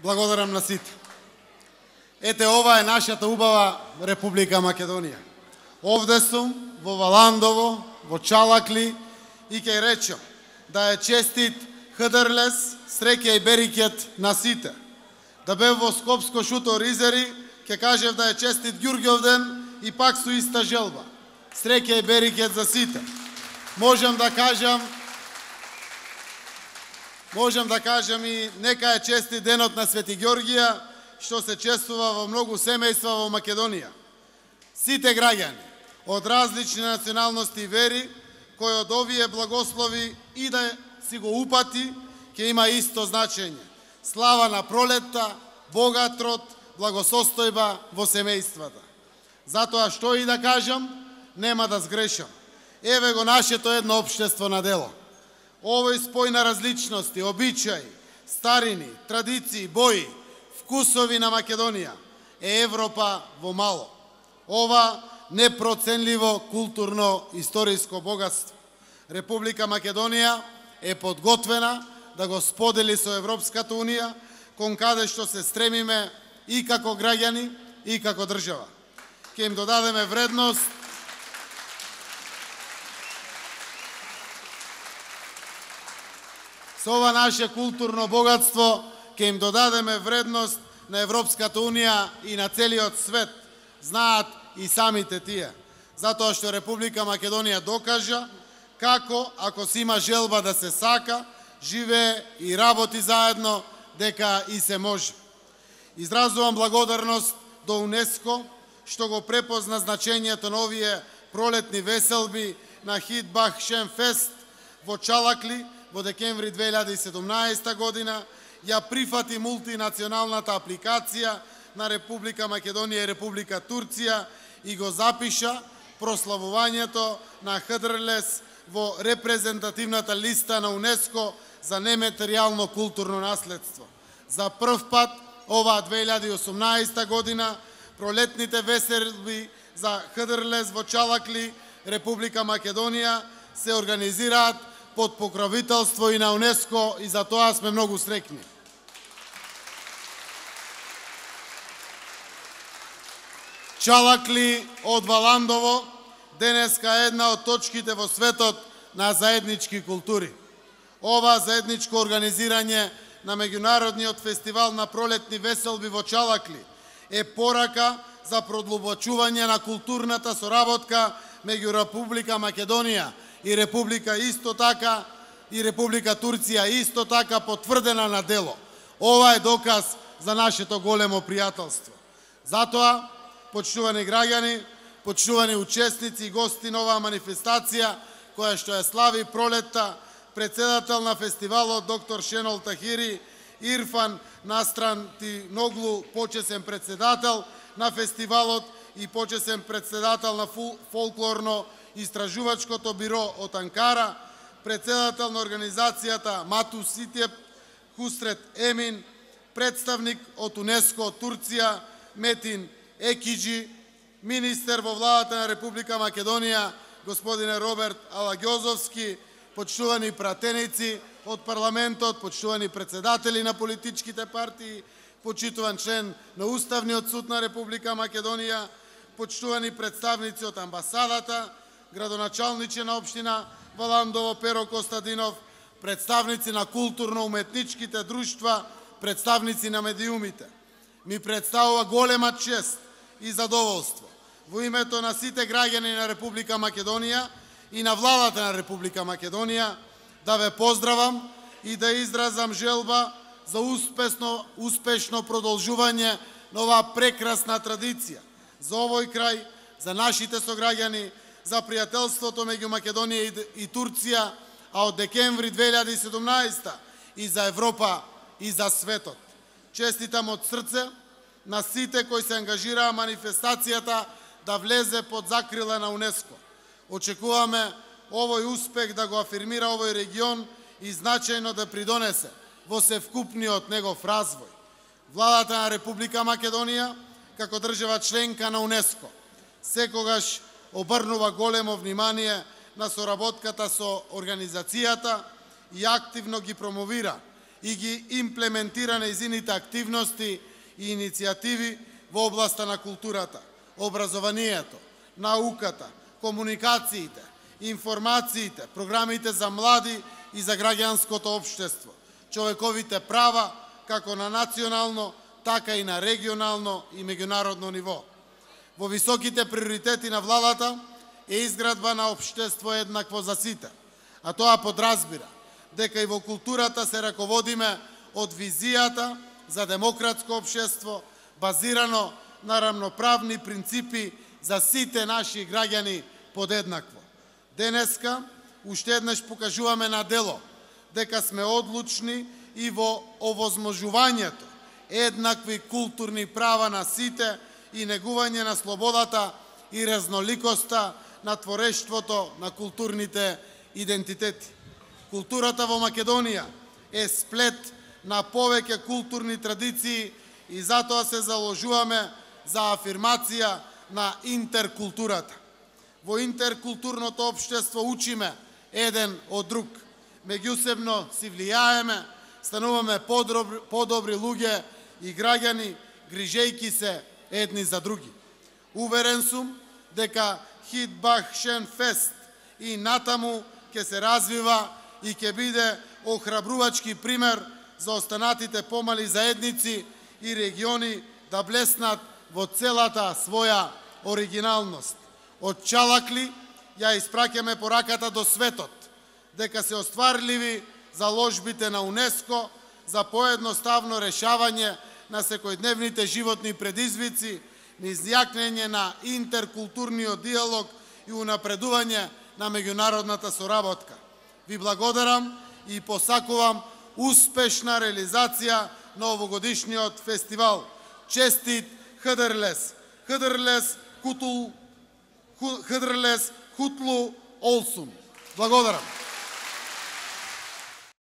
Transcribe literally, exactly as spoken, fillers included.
Благодарам на сите. Ете, ова е нашата убава Република Македонија. Овде сум, во Валандово, во Чалакли, и ќе речам да е честит Хдрлес, среќа и берекет на сите. Да бев во Скопско Шутор Изери, ќе кажев да е честит Ѓурѓовден и пак со иста желба. Среќа и берекет за сите. Можам да кажам Можам да кажам и нека е честит денот на Свети Ѓорѓија, што се чествува во многу семејства во Македонија. Сите граѓани од различни националности и вери, кои од овие благослови и да си го упати, ќе има исто значење. Слава на пролетта, богат род, благосостојба во семејствата. Затоа што и да кажам, нема да сгрешам. Еве го нашето едно општество на дело. Овој спој на различности, обичаи, старини, традиции, бои, вкусови на Македонија е Европа во мало. Ова непроценливо културно-историско богатство. Република Македонија е подготвена да го сподели со Европската Унија, кон каде што се стремиме и како граѓани, и како држава. Ќе им додадеме вредност со ова наше културно богатство, ќе им додадеме вредност на Европската Унија и на целиот свет. Знаат и самите тие. Затоа што Република Македонија докажа како, ако си има желба да се сака, живее и работи заедно, дека и се може. Изразувам благодарност до УНЕСКО, што го препозна значењето на овие пролетни веселби на Хидбах Шенфест во Чалакли во декември две илјади и седумнаесета година, ја прифати мултинационалната апликација на Република Македонија и Република Турција и го запиша прославувањето на Хдрлес во репрезентативната листа на УНЕСКО за нематеријално културно наследство. За прв пат оваа две илјади и осумнаесета година пролетните веселби за Хдрлес во Чалакли, Република Македонија се организираат под покровителство и на УНЕСКО и за тоа сме многу среќни. Чалакли од Валандово денеска е една од точките во светот на заеднички култури. Ова заедничко организирање на меѓународниот фестивал на пролетни веселби во Чалакли е порака за продлабочување на културната соработка меѓу Република Македонија и Република исто така и Република Турција исто така потврдена на дело. Ова е доказ за нашето големо пријателство. Затоа, почитувани граѓани, почитувани учесници и гости на оваа манифестација, која што ја слави пролетта, председател на фестивалот доктор Шенол Тахири, Ирфан Настрантиноглу, почесен председател на фестивалот и почесен председател на фолклорно Истражувачкото биро од Анкара, председател на организацијата Мату Ситеп, Хусрет Емин, представник од УНЕСКО од Турција, Метин Екиджи, министер во владата на Република Македонија, господине Роберт Алагјозовски, почитувани пратеници од парламентот, почитувани председатели на политичките партии, почитуван член на Уставниот суд на Република Македонија, почитувани представници од амбасадата, градоначалниче на општина Валандово Перо Костадинов, представници на културно-уметничките друштва, представници на медиумите. Ми представува голема чест и задоволство во името на сите граѓани на Република Македонија и на владата на Република Македонија да ве поздравам и да изразам желба за успешно, успешно продолжување на оваа прекрасна традиција за овој крај, за нашите сограѓани, за пријателството меѓу Македонија и Турција, а од декември две илјади и седумнаесета и за Европа и за светот. Честитам од срце на сите кои се ангажираа манифестацијата да влезе под закрила на УНЕСКО. Очекуваме овој успех да го афирмира овој регион и значајно да придонесе во севкупниот негов развој. Владата на Република Македонија, како држава членка на УНЕСКО, секогаш обрнува големо внимание на соработката со организацијата и активно ги промовира и ги имплементира нејзините активности и иницијативи во областа на културата, образованието, науката, комуникациите, информациите, програмите за млади и за граѓанското општество, човековите права, како на национално, така и на регионално и меѓународно ниво. Во високите приоритети на владата е изградба на општество еднакво за сите, а тоа подразбира дека и во културата се раководиме од визијата за демократско општество, базирано на рамноправни принципи за сите наши граѓани подеднакво. Денеска, уште еднаш покажуваме на дело дека сме одлучни и во овозможувањето еднакви културни права на сите и негување на слободата и разноликоста на творештвото на културните идентитети. Културата во Македонија е сплет на повеќе културни традиции и затоа се заложуваме за афирмација на интеркултурата. Во интеркултурното општество учиме еден од друг, меѓусебно си влијаеме, стануваме подобри, подобри луѓе и граѓани, грижејки се едни за други. Уверен сум дека Хидбах Шен Фест и натаму ќе се развива и ќе биде охрабрувачки пример за останатите помали заедници и региони да блеснат во целата своја оригиналност. Од Чалакли ја испраќаме пораката до светот, дека се остварливи заложбите на УНЕСКО за поедноставно решавање на секојдневните животни предизвици, низ јакнење на интеркултурниот диалог и унапредување на меѓународната соработка. Ви благодарам и посакувам успешна реализација на овогодишниот фестивал. Честит Хыдырлес! Хыдырлес Кутул Хыдырлес Кутлу Олсун. Благодарам.